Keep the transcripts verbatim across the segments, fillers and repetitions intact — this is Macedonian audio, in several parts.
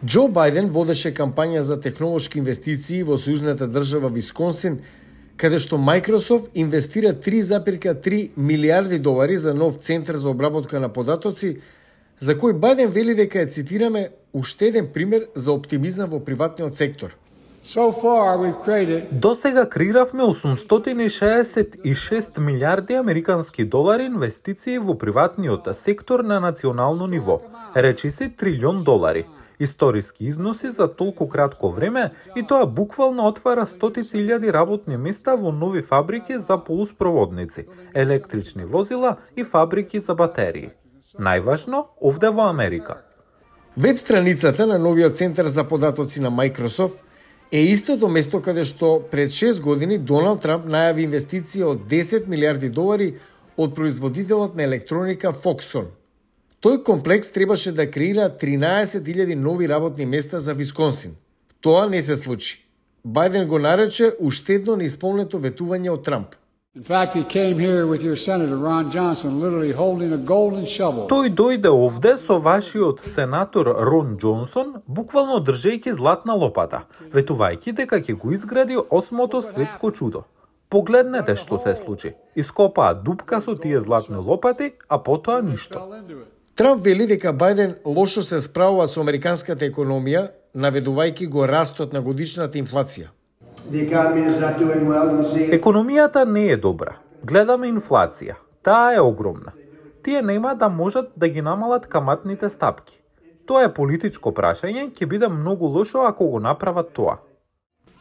Џо Бајден водеше кампања за технолошки инвестиции во сојузната држава Висконсин, каде што Microsoft инвестира три запирка три милиарди долари за нов центар за обработка на податоци, за кој Бајден вели дека е, цитираме, уште еден пример за оптимизам во приватниот сектор. So far, we've created... До сега креиравме осумстотини шеесет и шест милиарди американски долари инвестиции во приватниот сектор на национално ниво, речиси трилион долари. Историски износи за толку кратко време и тоа буквално отвара стотици илјади работни места во нови фабрики за полуспроводници, електрични возила и фабрики за батерии. Најважно овде во Америка. Веб страницата на новиот центар за податоци на Microsoft е истото место каде што пред шест години Доналд Трамп најави инвестиција од десет милиарди долари од производителот на електроника Foxconn. Тој комплекс требаше да креира тринаесет илјади нови работни места за Висконсин. Тоа не се случи. Бајден го нарече уште едно неисполнето ветување од Трамп. In fact, he came here with your Senator Ron Johnson, literally holding a golden shovel. Тој дојде овде со вашиот сенатор Рон Џонсон, буквално држејќи златна лопата, ветувајќи дека ќе го изгради осмото светско чудо. Погледнете што се случи. Ископаа дупка со тие златни лопати, а потоа ништо. Трамп вели дека Бајден лошо се справува со американската економија, наведувајќи го растот на годишната инфлација. Економијата не е добра. Гледаме инфлација. Таа е огромна. Тие нема да можат да ги намалат каматните стапки. Тоа е политичко прашање, ќе биде многу лошо ако го направат тоа.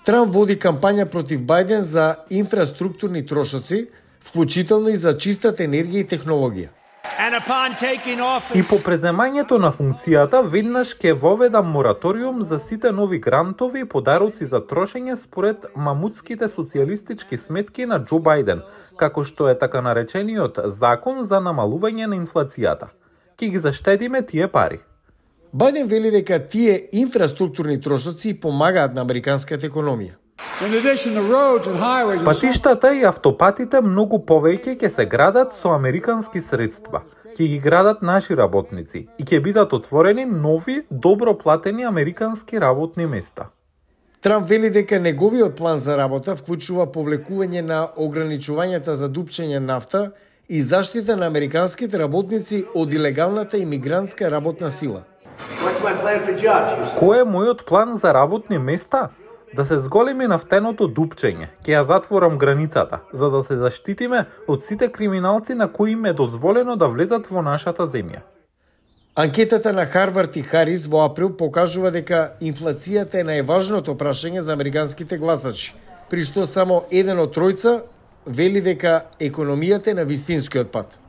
Трамп води кампања против Бајден за инфраструктурни трошоци, вклучително и за чистата енергија и технологија. И по преземањето на функцијата, веднаш ќе воведа мораториум за сите нови грантови и подароци за трошење според мамутските социјалистички сметки на Џо Бајден, како што е така наречениот закон за намалување на инфлацијата. Ќе ги заштедиме тие пари. Бајден вели дека тие инфраструктурни трошоци помагаат на американската економија. Патиштата и автопатите многу повеќе ќе се градат со американски средства. Ќе ги градат наши работници и ќе бидат отворени нови, добро платени американски работни места. Трамп вели дека неговиот план за работа вклучува повлекување на ограничувањата за дупчење нафта и заштита на американските работници од илегалната имигрантска работна сила. Кој е мојот план за работни места? Да се зголеми нафтеното дупчење, ќе ја затворам границата, за да се заштитиме од сите криминалци на кои им е дозволено да влезат во нашата земја. Анкетата на Харвард и Харис во април покажува дека инфлацијата е најважното прашање за американските гласачи, при што само еден од тројца вели дека економијата е на вистинскиот пат.